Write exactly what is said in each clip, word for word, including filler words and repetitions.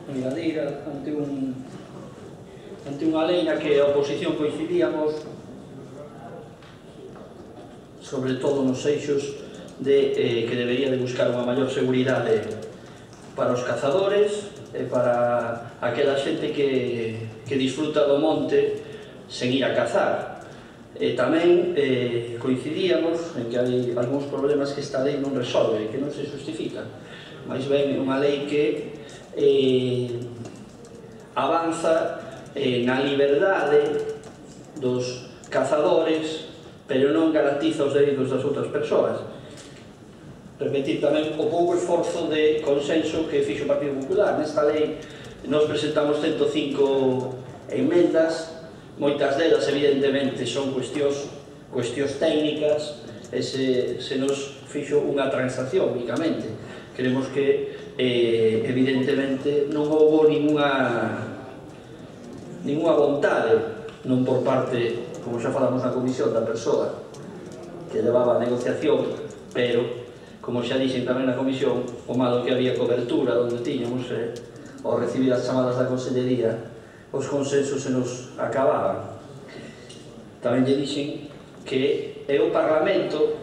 Engadeira ante un ante unha lei na que a oposición coincidíamos sobre todo nos eixos de eh, que debería de buscar unha maior seguridade para os cazadores e para aquela xente que, que disfruta do monte sen ir a cazar. E tamén eh, coincidíamos en que hai algúns problemas que esta lei non resolve, que non se justifica. Mais ben é unha lei que eh, avanza eh, na liberdade dos cazadores, pero non garantiza os dereitos das outras persoas. Repetir tamén o pouco esforzo de consenso que fixo o Partido Popular. Nesta lei nos presentamos ciento cinco enmendas, moitas delas evidentemente son cuestións, cuestións técnicas, e se, se nos fixo unha transacción únicamente. Queremos que eh, evidentemente non houve ninguna ninguna vontade, non por parte, como xa falamos na comisión, da persoa que levaba a negociación, pero, como xa dixen tamén na comisión, o malo que había cobertura onde tiñamos, eh, ao recibir as chamadas da Consellería, os consensos se nos acababan. Tamén lle dixen que é o Parlamento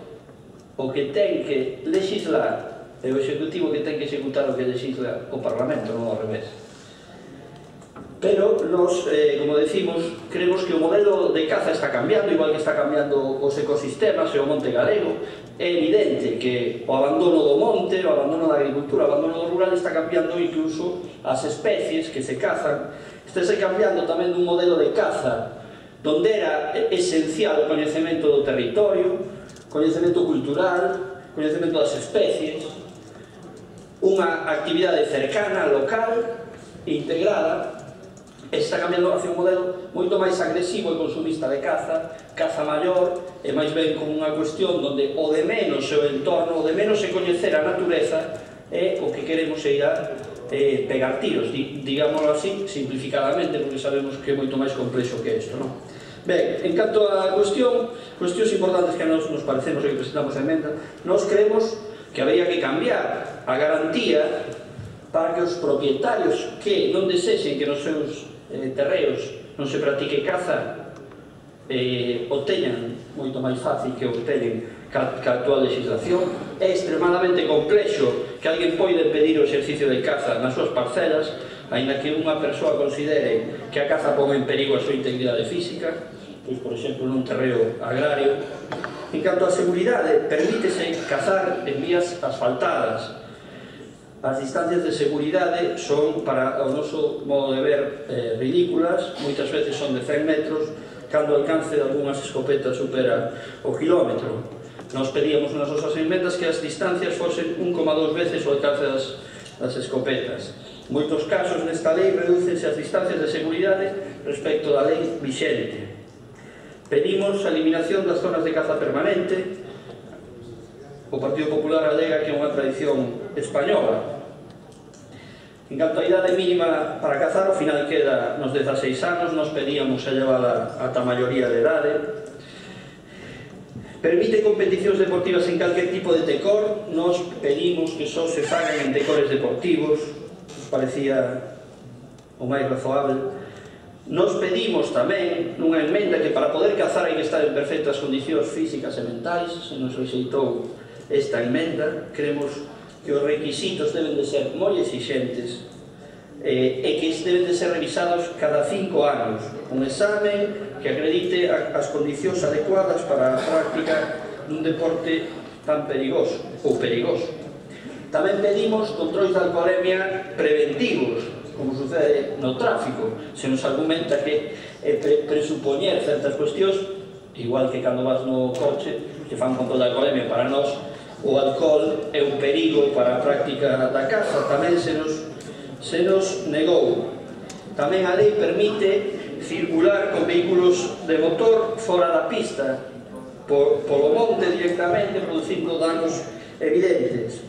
o que ten que legislar e o Executivo que ten que executar o que legisla o Parlamento, non ao revés. Pero nos, eh, como decimos, creemos que o modelo de caza está cambiando, igual que está cambiando os ecosistemas e o monte galego. É evidente que o abandono do monte, o abandono da agricultura, o abandono do rural está cambiando incluso as especies que se cazan. Estáse cambiando tamén dun modelo de caza donde era esencial o coñecemento do territorio, coñecemento cultural, coñecemento das especies, unha actividade cercana, local e integrada. Está cambiando hacia un modelo moito máis agresivo e consumista de caza, caza maior, e máis ben como unha cuestión onde o de menos é o entorno, o de menos é coñecer a natureza, e o que queremos é ir a eh, pegar tiros, digámoslo así, simplificadamente, porque sabemos que é moito máis complexo que isto, non? Ben, en canto a cuestión, cuestións importantes que nos, nos parecemos e que presentamos a emenda, nos creemos que habría que cambiar a garantía para que os propietarios que non desexen que nos seus eh, terreos non se practique caza eh, o teñan moito máis fácil que o teñen ca, ca actual legislación. É extremadamente complexo que alguén poida impedir o exercicio de caza nas súas parcelas, aínda que unha persoa considere que a caza pon en perigo a súa integridade física, pois, por exemplo, nun terreo agrario. En canto á seguridade, permítese cazar en vías asfaltadas. As distancias de seguridade son, para o noso modo de ver, eh, ridículas, moitas veces son de cen metros, cando o alcance de algunhas escopetas supera o kilómetro. Nos pedíamos nas nosas enmendas que as distancias fosen un coma dos veces o alcance das, das escopetas. En moitos casos nesta lei redúcense as distancias de seguridade respecto da lei vixente. Pedimos a eliminación das zonas de caza permanente. O Partido Popular alega que é unha tradición española. En canto a idade mínima para cazar, ao final queda nos dezaseis anos, nos pedíamos a llevala ata a maioría de idade. Permite competicións deportivas en calquer tipo de tecor, nos pedimos que só se fagan en tecores deportivos, nos parecía o máis razoable. Nos pedimos tamén nunha enmenda que para poder cazar hai que estar en perfectas condicións físicas e mentais. Se nos rexeitou esta enmenda, creemos que os requisitos deben de ser moi exixentes eh, e que deben de ser revisados cada cinco anos. Un exame que acredite as condicións adecuadas para a práctica dun deporte tan perigoso ou perigoso. Tamén pedimos controis de alcoholemia preventivos, como sucede no tráfico. Se nos argumenta que é pre presupoñer certas cuestións, igual que cando vas no coche, que fan control de alcoholemia, para nós o alcohol é un perigo para a práctica da caza, tamén se nos, se nos negou. Tamén a lei permite circular con vehículos de motor fora da pista, por, polo monte directamente, producindo danos evidentes.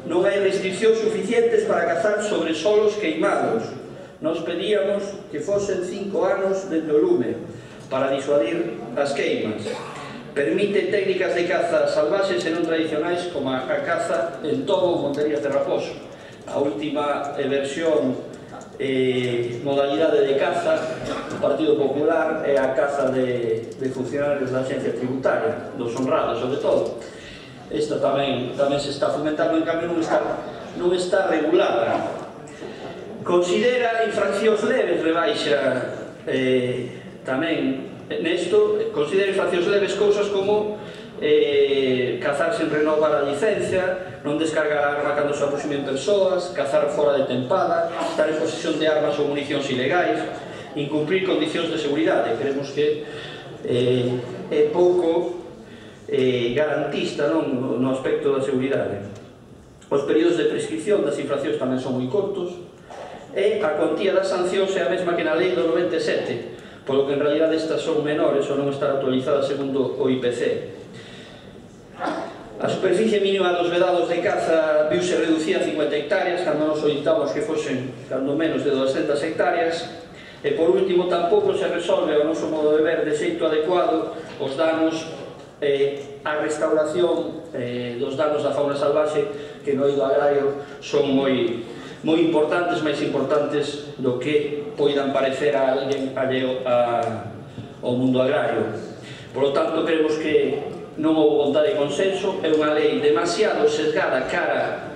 Non hai restriccións suficientes para cazar sobre solos queimados. Nos pedíamos que fosen cinco anos dende o lume para disuadir as queimas. Permite técnicas de caza salvaxes e non tradicionais como a caza en tobo ou monterías de raposo. a última versión eh, modalidade de caza do Partido Popular é a caza de, de funcionarios da Axencia Tributaria, dos honrados sobre todo. Esta tamén, tamén se está fomentando, en cambio non está, non está regulada. Considera infraccións leves, rebaixa eh, tamén nesto, considera infraccións leves cousas como eh, cazar sen renovar a licencia, non descargar a arma cando se aproximen persoas, cazar fora de tempada, estar en posesión de armas ou municións ilegais, incumprir condicións de seguridade. Creemos que eh, é pouco eh, garantista, non, no aspecto da seguridade. Os períodos de prescripción das infraccións tamén son moi cortos, e a cuantía das sancións é a mesma que na lei do noventa e sete, polo que en realidad estas son menores ou non estar actualizadas segundo o I P C. A superficie mínima dos vedados de caza viuse reducida a cincuenta hectáreas, cando nos solicitamos que fosen cando menos de doscientas hectáreas, e por último tampouco se resolve ao noso modo de ver de xeito adecuado os danos eh, a restauración eh, dos danos da fauna salvaxe que no eido agrario son moi moi importantes, máis importantes do que poidan parecer a alguén alleo ao mundo agrario. Por lo tanto, creemos que non houve vontade de consenso, é unha lei demasiado sesgada cara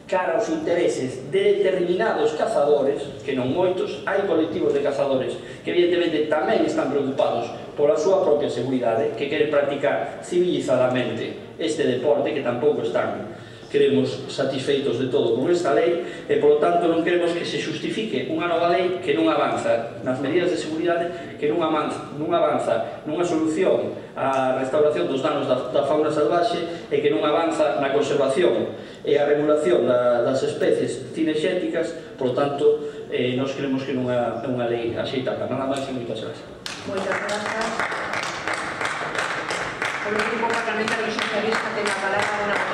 cara aos intereses de determinados cazadores, que non moitos, hai colectivos de cazadores que evidentemente tamén están preocupados pola súa propia seguridade, que queren practicar civilizadamente este deporte, que tampouco están queremos satisfeitos de todo con esta lei, e polo tanto non queremos que se justifique unha nova lei que non avanza nas medidas de seguridade, que non avanza, non avanza nunha solución á restauración dos danos da, da fauna salvaxe, e que non avanza na conservación e a regulación da, das especies cinexéticas. Por tanto, eh, nos creemos que non é unha lei axeitada. Nada máis e moitas gracias. Moitas grazas. O grupo parlamentario socialista ten a palabra.